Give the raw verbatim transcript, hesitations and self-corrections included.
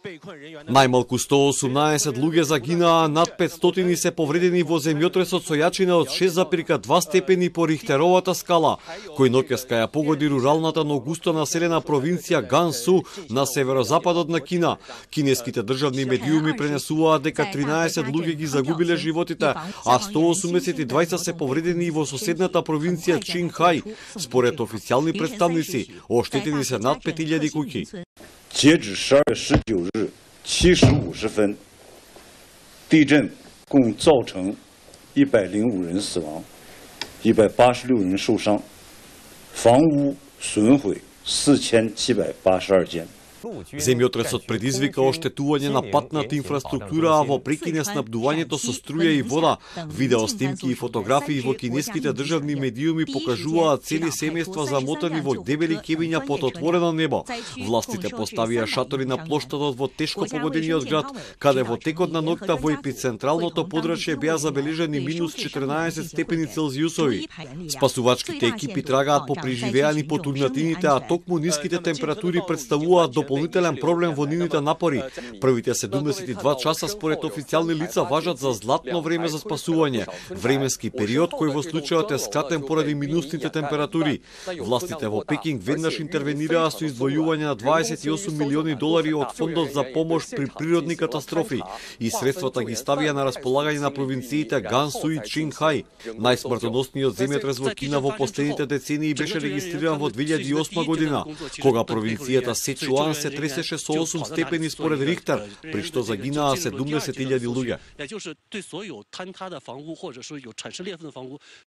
Најмалку сто осумнаесет луѓе загинаа, над петстотини се повредени во земјотресот со јачина од шест запирка два степени по Рихтеровата скала, кој ноќеска ја погоди руралната, но густо населена провинција Гансу на северозападот на Кина. Кинеските државни медиуми пренесуваат дека тринаесет луѓе ги загубиле животите, а сто осумдесет и двајца се повредени и во соседната провинција Чинхај. Според официјални представници, оштетени се над пет илјади куќи. 截止十二月十九日七时五十分，地震共造成一百零五人死亡，一百八十六人受伤，房屋损毁四千七百八十二间。 Земјотресот предизвика оштетување на патната инфраструктура, а во прекине снабдувањето со струја и вода. Видео снимки и фотографии во кинеските државни медиуми покажуваат цели семејства замотани во дебели кебиња под отворено небо. Властите поставија шатори на плоштадот во тешко погодениот град, каде во текот на ноќта во епицентралното подрачје беа забележани минус четрнаесет степени Целзиусови. Спасувачките екипи трагаат по преживеани потурнатините, а токму ниските температури представуваат дополнителен проблем во нивните напори. Првите седумдесет и два часа според официјални лица важат за златно време за спасување, временски период кој во случајот е скратен поради минусните температури. Властите во Пекинг веднаш интервенираа со издвојување на дваесет и осум милиони долари од фондот за помош при природни катастрофи и средствата ги ставија на располагање на провинциите Гансу и Чинхај. Најсмртоносниот земјотрес во Кина во последните децении беше регистриран во две илјади и осма година, кога провинцијата Сечуан се тресеше со осум степени според Рихтер, при што загинаа седумдесет илјади луѓе.